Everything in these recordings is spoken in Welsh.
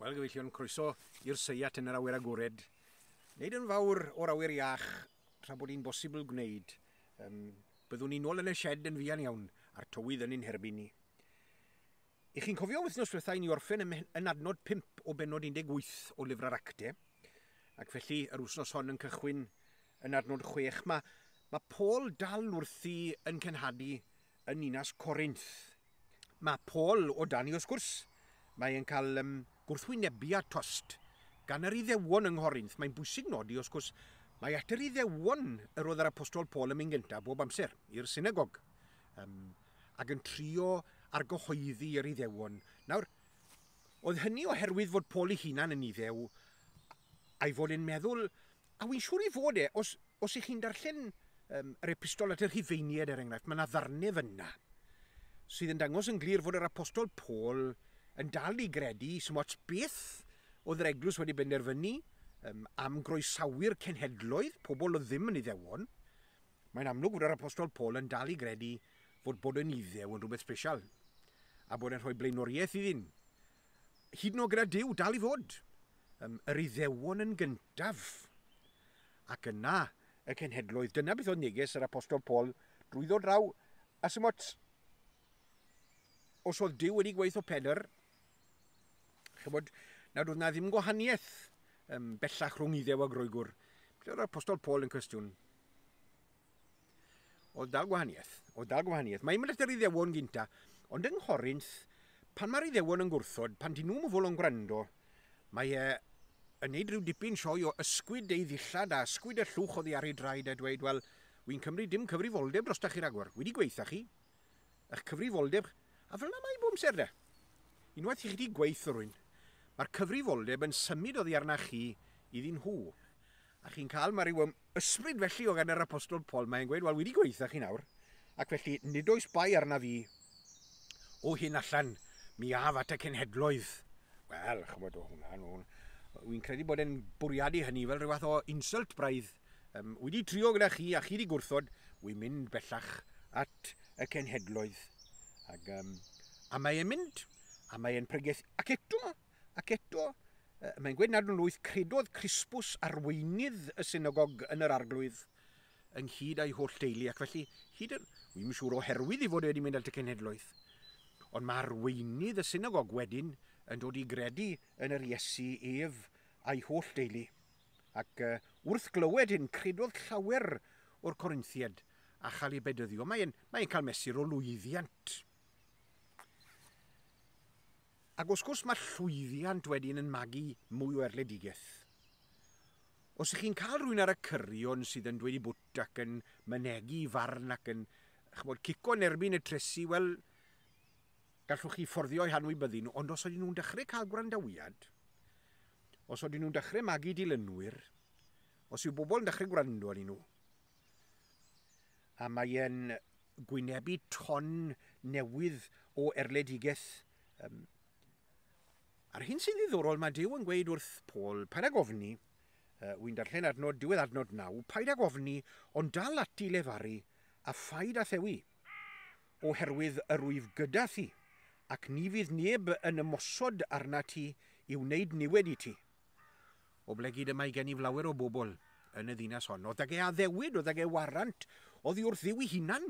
Wel, gyfeillion, croeso i'r seiat yn yr awyr agored. Wneud yn fawr o'r awyr iach tra bod hi'n bosibl gwneud. Um, byddwn ni'n ôl yn y shed yn fuan iawn, a'r tywydd yn ein herbyn ni. I chi'n cofio wythnos diwetha i ni orffen yn, yn adnod 5 o benod 18 o lyfr yr Acte, ac felly yr wythnos hon yn cychwyn yn adnod 6. Mae, mae Paul dal wrthi yn cenhadu yn ninas Corinth. Mae Paul o dan i wrth gwrs. Mae e'n cael um, gwrthwynebiad tost gan yr Iddewon yng Nghorinth. Mae'n bwysig nodi, wrth gwrs, mae at yr Iddewon yr oedd yr Apostol Paul yn mynd gyntaf bob amser, i'r synagog, um, ac yn trio argyhoeddi yr Iddewon. Nawr, oedd hynny oherwydd fod Paul ei hunan yn Iddew, a'i fod e'n meddwl, a wy'n siŵr i fod e, os, os ych chi'n darllen um, yr epistol at y Rhufeiniaid er enghraifft, mae yna ddarnau fyna sydd yn dangos yn glir fod yr apostol Paul yn dal i gredu, sy'n ots beth oedd yr eglwys wedi benderfynu um, am groesawu'r cenhedloedd, pobl oedd ddim yn Iddewon, mae'n amlwg fod yr apostol Paul yn dal i gredu fod bod yn Iddew yn rhywbeth special, a bod e'n rhoi blaenoriaeth iddyn. Hyd yn oed gyda Duw, dal i fod. Um, yr Iddewon yn gyntaf, ac yna y cenhedloedd. Dyna beth oedd neges yr apostol Paul drwyddo draw. A sy'n ots, os oedd Duw wedi gweithio Pedr, chybod, nad oedd na ddim gwahaniaeth um, bellach rhwng Iddew a Groegwr. Beth oedd yr apostol Paul yn cwestiwn? Oedd dal gwahaniaeth. Oedd dal gwahaniaeth. Mae'n mynd at yr Iddewon gynta, ond yng Nghorinth, pan mae'r Iddewon yn gwrthod, pan dyn nhw'n fodlon gwrando, mae e yn neud rhyw dipyn sioe o ysgwyd ei ddillad a ysgwyd y llwch oddi ar ei draed a dweud, wel, wy'n cymryd dim cyfrifoldeb drosta chi ragor. Wedi gweitha chi. Eich cyfrifoldeb. A fel yna mae bob amser de. Unwaith i chi wedi gweithio rwy'n, mae'r cyfrifoldeb yn symud oddi arna chi iddyn nhw. A chi'n cael, mae rhyw ysbryd felly o gan yr apostol Paul, mae'n gweud, wel, wedi gweithio chi nawr, ac felly nid oes bai arna fi o hyn allan, mi af at y cenhedloedd. Wel, chymod o hwnna, no, wy'n credu bod e'n bwriadu hynny fel rhyw fath o insult braidd. Um, wedi trio gyda chi a chi wedi gwrthod, wy'n mynd bellach at y cenhedloedd. Ac, um, a mae e'n mynd, a mae e'n pregethu, ac eto, ac eto, mae'n gweud nad yn lwyth, credodd Crispus arweinydd y synagog yn yr arglwydd, ynghyd â'i holl deulu, ac felly, hyd yn, wi'm yn siŵr oherwydd ei fod e wedi mynd at y cenhedloedd. Ond mae arweinydd y synagog wedyn yn dod i gredu yn yr Iesu ef a'i holl deulu. Ac uh, wrth glywed hyn, credodd llawer o'r Corinthiad a chael ei bedyddio. Mae'n mae cael mesur o lwyddiant. Ac wrth gwrs mae llwyddiant wedyn yn magu mwy o erledigaeth. Os ych chi'n cael rhywun ar y cyrion sydd yn dweud i bwt ac yn mynegi farn ac yn chymod, cico yn erbyn y tresi, wel, gallwch chi fforddio eu hanwybyddu nhw, ond os ydyn nhw'n dechrau cael gwrandawiad, os ydyn nhw'n dechrau magu dilynwyr, os yw bobl yn dechrau gwrando arnyn nhw, a mae e'n gwynebu ton newydd o erledigaeth. Um, a'r hyn sy'n ddiddorol, mae Duw yn gweud wrth Paul, paid ag ofni, uh, wy'n darllen adnod, diwedd adnod 9, paid ag ofni, ond dal ati lefaru, a phaid â thewi, oherwydd yr wyf gyda thi, ac ni fydd neb yn ymosod arna ti i wneud niwed i ti. Oblegid y mae gen i flawer o bobl yn y ddinas hon. Oedd ag e addewid, oedd ag e warant, oddi wrth Dduw ei hunan,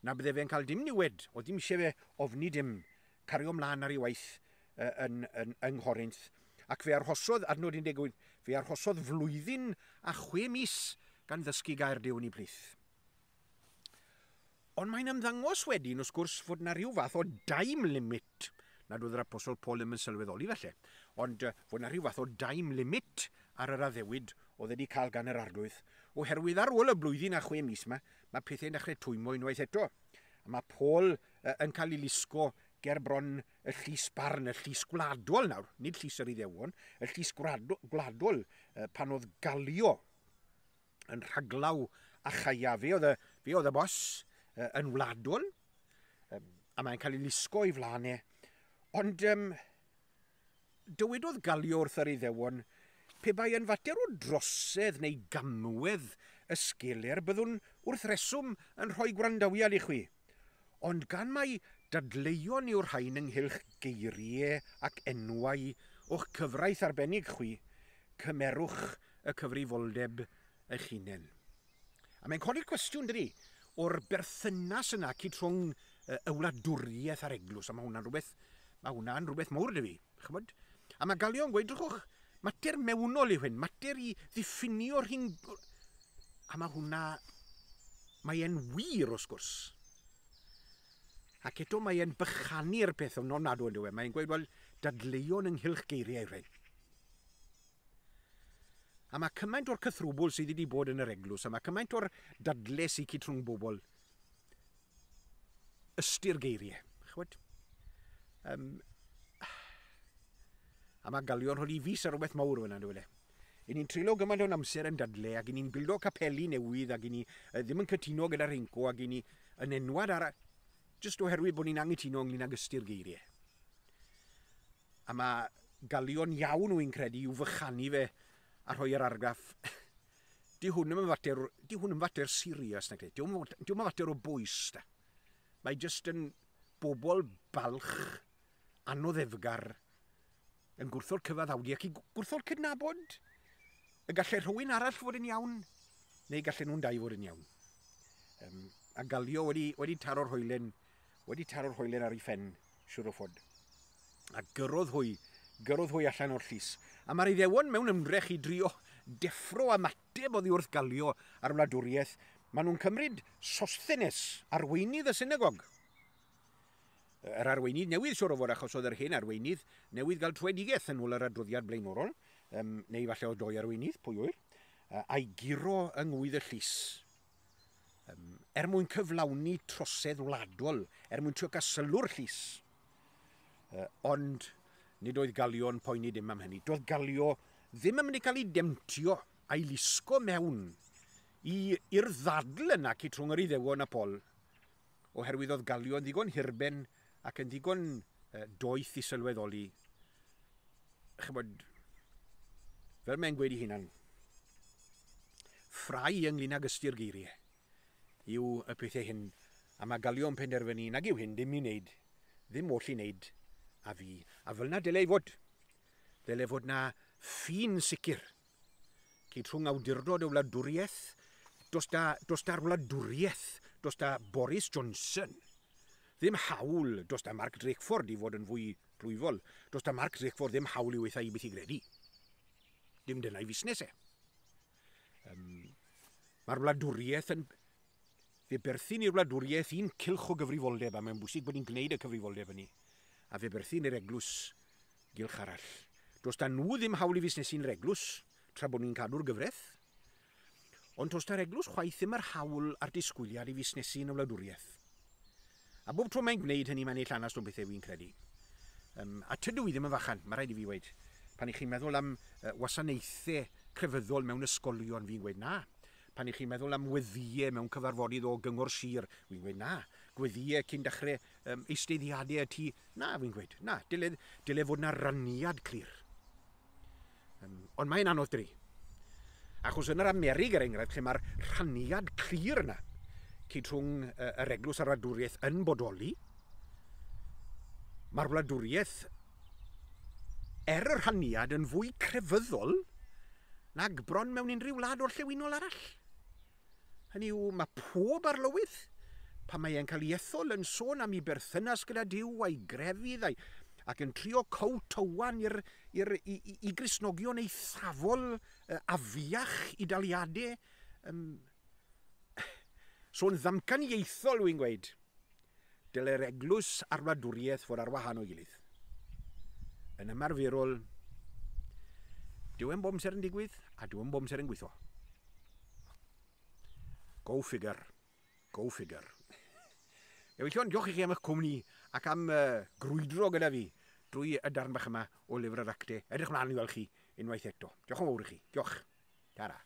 na bydde fe'n cael dim niwed, oedd dim eisiau fe ofni dim, cario mlaen ar ei waith yn, yn, yng Nghorinth. Ac fe arhosodd, adnod 18, fe arhosodd flwyddyn a chwe mis gan ddysgu gair Duw yn ei plith. Ond mae'n ymddangos wedyn, wrth gwrs, fod na rhyw fath o time limit, nad oedd yr Apostol Paul ddim yn sylweddoli falle, ond fod na rhyw fath o time limit ar yr addewid oedd wedi cael gan yr arglwydd, oherwydd ar ôl y blwyddyn a chwe mis yma, mae pethau'n dechrau twymo unwaith eto. A mae Paul yn cael ei lusgo ger bron y llys barn, y llys gwladol nawr, nid llys yr Iddewon, y llys gwladol pan oedd Galio yn rhaglaw Achaia. Fe oedd y, fe oedd y bos yn wladol, a mae'n cael ei lusgo i flaen e. Ond um, dywedodd Galio wrth yr Iddewon, pe bai yn fater o drosedd neu gamwedd y sgeler, byddwn wrth reswm yn rhoi gwrandawiad i chwi. Ond gan mai Dadleuon yw'r rhain ynghylch geiriau ac enwau o'ch cyfraith arbennig chwi, cymerwch y cyfrifoldeb eich hunain. A mae'n codi'r cwestiwn, dydy, o'r berthynas yna cyd rhwng y wladwriaeth a'r eglwys, a mae hwnna'n rhywbeth, mae hwnna'n rhywbeth mawr dy fi, chymod? A mae Galio'n gweud, drychwch, mater mewnol yw hyn, mater i ddiffinio rhing... A mae hwnna, mae e'n wir wrth gwrs. Ac eto mae e'n bychanu'r peth yn ofnadwy yn dyw e. Mae'n gweud, wel, dadleuon ynghylch geiriau rhain. A mae cymaint o'r cythrwbwl sydd wedi bod yn yr eglwys, a mae cymaint o'r dadle sy'n cyd rhwng bobl, ystyr geiriau. Chwyd? A mae Galio'n rhoi fus ar rhywbeth mawr fyna, dwi e. I ni'n treulio gymaint o'n amser yn dadle, ac i ni'n bildo capeli newydd, ac i ni ddim yn cytuno gyda'r rhinco, ac i ni yn enwad ar... Jyst oherwydd bod ni'n angytuno ynglyn ag ystyr geiriau. A mae Galio'n iawn, wy'n credu, i'w fychanu fe a rhoi yr argraff. Di hwn yn fater, di hwn yn fater serious, na Di hwn yn fater o bwys, da. Mae jyst yn bobl balch, anoddefgar, yn gwrthod cyfaddawdi ac i gwrthod cydnabod y gallai rhywun arall fod yn iawn, neu gallen nhw'n dau fod yn iawn. A Galio wedi taro'r hoelen, wedi taro'r hoelen ar ei phen, siwr o fod. A gyrrodd hwy allan o'r llys. A mae'r Iddewon mewn ymdrech i drio deffro ymateb oddi wrth Galio a'r wladwriaeth, maen nhw'n cymryd Sosthenes, arweinydd y synagog. Yr arweinydd newydd, siwr o fod, achos oedd yr hen arweinydd newydd gael trwedigaeth yn ôl yr adroddiad blaenorol, neu falle oedd doi arweinydd, pwy ŵyr, a'i guro yng ngwydd y llys. Er mwyn cyflawni trosedd wladol, er mwyn trio cael sylw'r llys. Ond nid oedd Galio'n poeni dim am hynny. Doedd Galio ddim yn mynd i cael ei demtio a'i lusgo mewn i'r ddadl yna cyd rhwng yr Iddewon a Paul, oherwydd oedd Galio yn ddigon hirben ac yn ddigon doeth i sylweddoli. Chymod, fel mae'n gweud i hunan, ffrau ynglyn ag ystyr geiriau yw y pethau hyn, a mae Galio'n penderfynu nag yw hyn ddim i wneud, ddim oll i wneud a fi. A fel na dyle i fod. Dyle fod na ffin sicr cyd rhwng awdurdod y wladwriaeth, dos da'r wladwriaeth, dos da Boris Johnson. Ddim hawl, dos da Mark Drakeford i fod yn fwy plwyfol, dos da Mark Drakeford ddim hawl i weitha i beth i gredu. Dim dyna'i fusnes e. Mae'r wladwriaeth yn... Fe berthyn i'r wladwriaeth un cylch o gyfrifoldeb, a mae'n bwysig bod ni'n gwneud y cyfrifoldeb hynny. A fe berthyn i'r eglwys gylch arall. Does da nhw ddim hawl i fusnesu'n yr eglwys, tra bod ni'n cadw'r gyfraith. Ond does da'r eglwys chwaith ddim yr hawl a'r disgwyliad i fusnesu yn y wladwriaeth. A bob tro mae'n gwneud hynny, mae'n ei llanast o'n bethau fi'n credu. A tydw i ddim yn fachan, mae rhaid i fi weud. Pan i chi'n meddwl am wasanaethau crefyddol mewn ysgolion, fi'n gweud na. Pan i chi'n meddwl am weddïau mewn cyfarfodydd o gyngor sir, fi'n gweud na. Gweddïau cyn dechrau eisteddiadau y tŷ, na, fi'n gweud, na. Dyle fod na raniad clir. Ond mae'n anodd dri. Achos yn yr Amerig, er enghraifft, lle mae'r rhaniad clir yna, cyd rhwng yr eglwys a'r wladwriaeth yn bodoli, mae'r wladwriaeth er y rhaniad yn fwy crefyddol nag bron mewn unrhyw wlad orllewinol arall. Hynny yw, mae pob arlywydd, pan mae e'n cael ei ethol yn sôn am ei berthynas gyda Duw a'i grefydd, ac yn trio cowtowan i Gristnogion eithafol afiach i daliadau. So'n ddamcaniaethol, wy'n gweud, dyle'r eglwys a'r wladwriaeth fod ar wahan o'i gilydd. Yn ymarferol, dyw e'n bob amser yn digwydd, a dyw e'n bob amser yn gweithio. Go figure. Go figure. Gyfeillion, diolch i chi am eich cwmni ac am grwydro gyda fi drwy y darn bach yma o lyfr yr Actau. Edrych mlaen i weld chi unwaith eto. Diolch yn fawr i chi. Diolch. Tara.